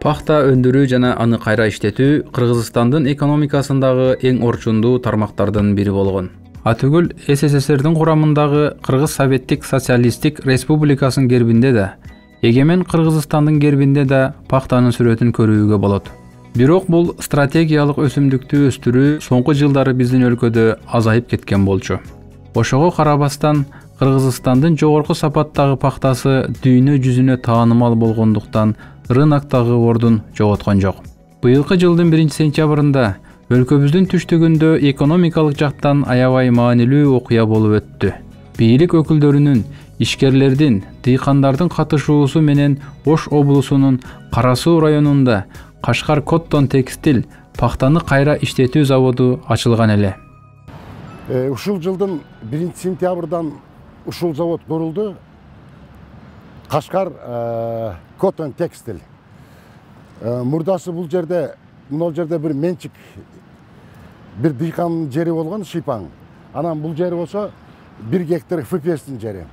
Пахта өндүрүү жана аны кайра иштетүү Кыргызстандын экономикасындагы эң орчундуу тармактардын бири болгон. Атүгүл СССРдин курамындагы Кыргыз Советтик Социалисттик Республикасынын гербинде да, эгемен Кыргызстандын гербинде да пахтанын сүрөтүн көрүүгө болот. Бирок бул стратегиялык өсүмдүктү өстүрүү соңку жылдары биздин өлкөдө азайып кеткен болчу. Ошого карабастан Кыргызстандын жогорку сапаттагы пахтасы дүйнө жүзүнө таанымал болгондуктан рыноктогу ордун жоготкон жок. Быйылкы жылдын 1-сентябрында өлкөбүздүн түштүгүндө экономикалык жактан аябай маанилүү окуя болуп өттү. Бийлик өкүлдөрүнүн, ишкерлердин, дыйкандардын катышуусу менен Ош облусунун Кара Суу районунда Кашкар Коттон текстиль пахтаны кайра иштетүү заводу ачылган эле. Ушул жылдын 1-сентябрдан ушул завод курулду. Кашкар Коттон текстиль. Мурдасы бул жерде, мына жерде бир менчик, бир дыйкандын жери болгон Шипаң. Анан бул жери болсо 1 гектар ФПСтин жери.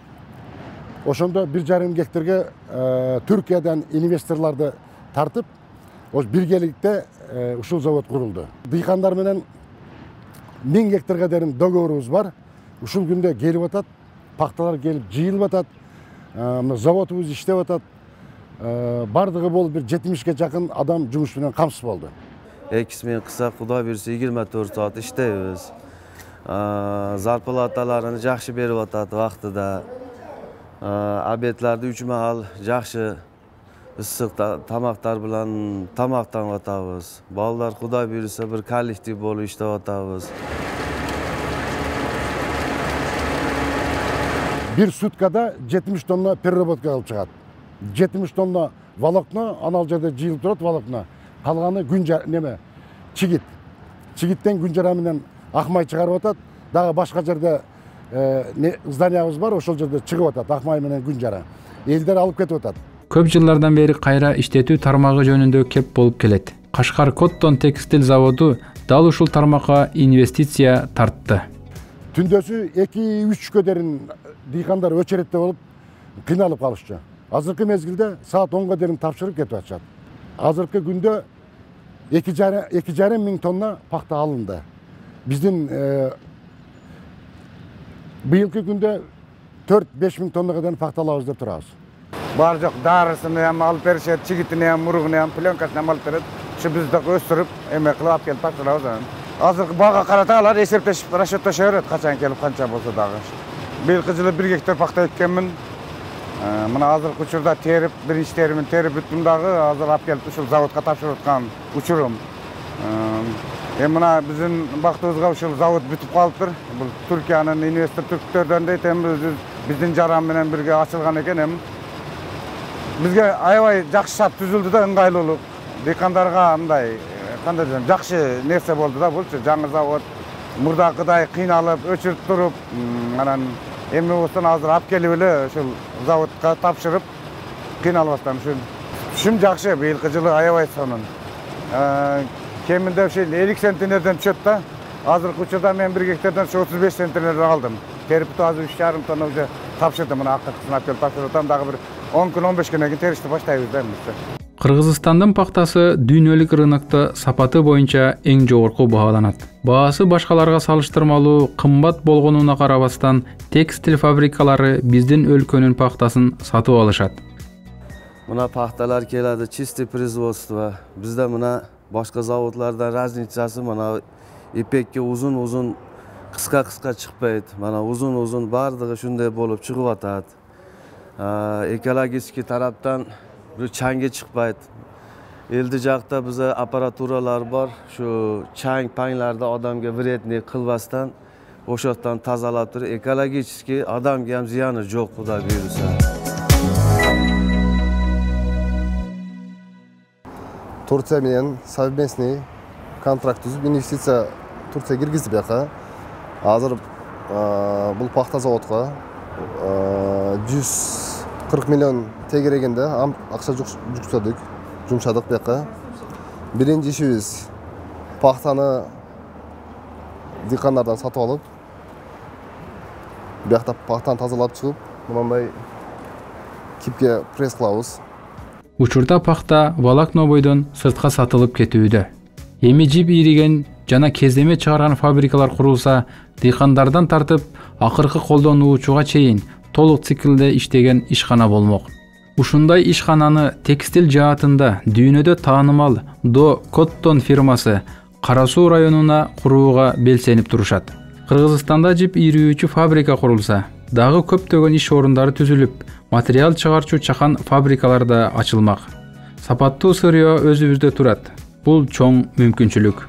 Ошондо 1,5 гектарга Түркиядан инвесторлорду тартып, ош биргеликте ушул завод курулду. Дыйкандар менен 1000 гектарга дейин договорубуз бар. Ушул күндө келип атат, пахталар келип жыйылып атат. Заводубуз иштеп атат. Бардыгы болуп бир 70ге жакын адам жумуш менен камсыз болду. Экисмен кыса Кудай буйрса 24 саат иштейбиз. Зарплаталарын жакшы берип атат вактыда. Обедларды 3 маал жакшы ысык тамактар менен тамактанып атабыз. Балдар Кудай буйрса бир коллектив болуп иштеп атабыз. Bir суткада 70 тонна переработка алып чыгат. 70 тонна волокно, анал жерде жыйылып турат волокно. Калганы чигит. Чигиттен күн жара менен акмай чыгарып атат. Дагы башка жерде зданиябыз бар, ошол жерде чыгып атат акмай менен күн жара. Элдер алып кетип атат. Көп жылдардан бери кайра иштетүү тармагы жөнүндө кеп болуп келет. Кашкар Коттон текстиль заводу дал ушул тармакка инвестиция тартты. Түндөсү 2-3 дейин дыйкандар өчөретте болуп кыйналып калышчу. Азыркы мезгилде саат 10га дейин тапшырып кетип атышат. Азыркы күндө 2,5 миң тонна пахта алынды. Биздин быйылкы күндө 4-5 миң тоннага дейин пахта алабыз деп турабыз. Бар жок, дарысын ham алып беришет, чигитин ham, мургун ham, пленкасын ham алып берет. Ушу бизди өстүрүп, эме кылып алып келип тапшырабыз. Азыркы бага карата алар эсептешип, расчеттеше берет, качан келип, канча болсо дагы. Быйылкы жылы 1 гектар пахта эккенмин. Мына азыркы учурда терип, биринчи теримин терип бүттүм дагы, азыр алып келип ушул заводко тапшырып аткан учурум. Эми мына биздин бактыбызга ушул завод бүтүп калыптыр. Бул Түркиянын инвестор түрктөрдөн дейт, эми биздин жаран менен бирге ачылган экен. Эми бизге аябай жакшы шарт түзүлдү да, ыңгайлуулук. Дыйкандарга мындай кандай десем, жакшы нерсе болду да булчу. Жаңы завод мурдакыдай кыйналып, өчүрүп туруп, анан эми болсо азыр алып келип эле ушул заводко тапшырып, кыйналбастан ушум жакшы. Быйылкы жылы аябай сонун. Кеминде ушул 50 центнерден түшөт да. Азыркы учурда мен 1 гектардан 35 центнерден алдым. Терип азыр 3,5 тонна уже тапшырдым. Мына акыркысын алып келип тапшырып атам, дагы бир 10 күн 15 күнөн кийин теришти баштайбыз да эмесе. Кыргызстандын пахтасы дүйнөлүк рынокто сапаты боюнча эң жогорку бааланат. Баасы башкаларга салыштырмалуу кымбат болгонуна карабастан, текстиль фабрикалары биздин өлкөнүн пахтасын сатып алышат. Мына пахталар келadi, чистый производство. Бизде мына башка заводлардан разницасы мына ипекке узун-узун, кыска-кыска чыкпайт. Мана узун-узун бардыгы ушундай болуп чыгып атат. Экологический тараптан бир чаңге чыкпайт. Элди жакта бизде аппаратуралар бар. Ушу чаң-паңларды адамга вредный кылбастан, ошоктон тазалап туруп, экологический адамга ham зыяны жок, Кудай буйрса. Турция менен совместный контракт түзүп, инвестиция Турция киргизди бияка. Азыр бул пахта заводко 140 миллион тегерегенде акча жумшадык бияка. Биринчи ишибиз пахтаны дыйкандардан сатып алып, биякта пахтаны тазалап чыгып, мындай кипке пресс кылабыз. Учурда пахта волокно бойдон сыртка сатылып кетүүдө. Эми жип ийриген жана кездеме чыгарган фабрикалар курулса, дыйкандардан тартып акыркы колдонуучуга чейин толук циклде иштеген ишкана болмок. Ушундай ишкананы текстил жаатында дүйнөдө таанымал До Коттон фирмасы Кара Суу районуна курууга белсенип турушат. Кыргызстанда жип ийрүүчү фабрика курулса, дагы көптөгөн иш орундары түзүлүп, материал чыгарчу чакан фабрикалар да ачылмак. Сапаттуу сырьё өзүбүздө турат. Бул чоң мүмкүнчүлүк.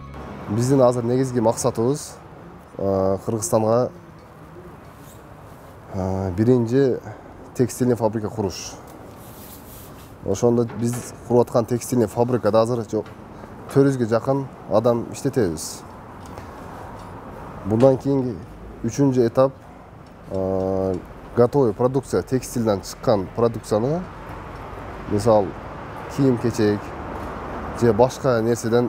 Биздин азыр негизги максатыбыз Кыргызстанга биринчи текстильный фабрика куруш. Ошондо биз куруп аткан текстильный фабрикада азыр 400ге жакын адам иштетебиз. Bundan keyingi 3-cü etap готовый продукция, текстилден чыккан продукцияны, мисал кийим-кечек же башка нерселерди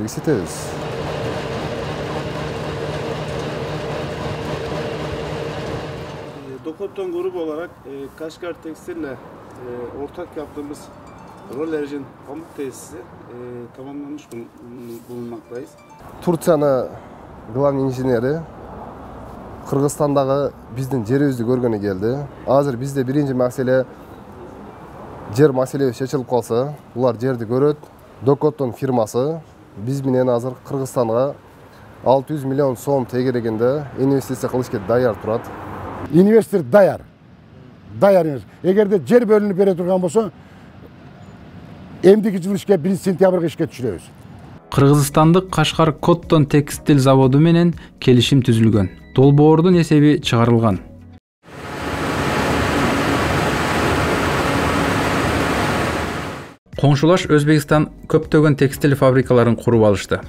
иштетебиз. До Коттон grubu olarak Kaşgar Tekstil'le ortak yaptığımız Rollerjin pamuk tesisi tamamlanmış bulunmaktayız. Турцияны главный инженери Кыргызстандагы биздин жерибизди көргөнү келди. Азыр бизде биринчи маселе жер маселеси чечилип калса, булар жерди көрөт. До Коттон фирмасы биз менен азыр Кыргызстанга 600 миллион сом тегерегинде инвестиция кылышка даяр турат. Инвестор даяр. Эгерде жер бөлүнүп бере турган болсо, эмдиги жыл ишке 1 сентябрга ишке түшүрөбүз. Кыргызстандык Кашкар Коттон текстил заводу менен келишим түзүлгөн. Долбоордун эсеби чыгарылган. Коңшулаш Өзбекстан көптөгөн текстил фабрикаларын куруп алышты.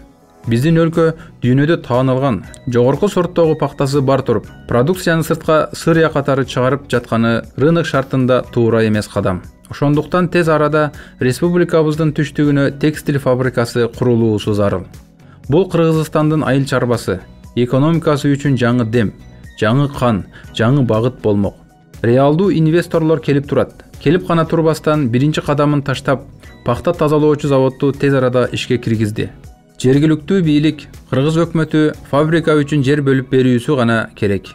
Биздин өлкө дүйнөдө таанылган жогорку сорттогу пахтасы бар туруп, продукцияны сыртка сырья катары чыгарып жатканы рынок шартында туура эмес кадам. Ошондуктан тез арада республикабыздын түштүгүнө текстил фабрикасы курулуусу зарыл. Бул Кыргызстандын айыл чарбасы, экономикасы үчүн жаңы дем, жаңы кан, жаңы багыт болмок. Реалдуу инвесторлор келип турат. Келип гана турбастан биринчи кадамын таштап, пахта тазалоочу заводду тез арада ишке киргизди. Жергиликтүү бийлик, кыргыз өкмөтү фабрика үчүн жер бөлүп берүүсү гана керек.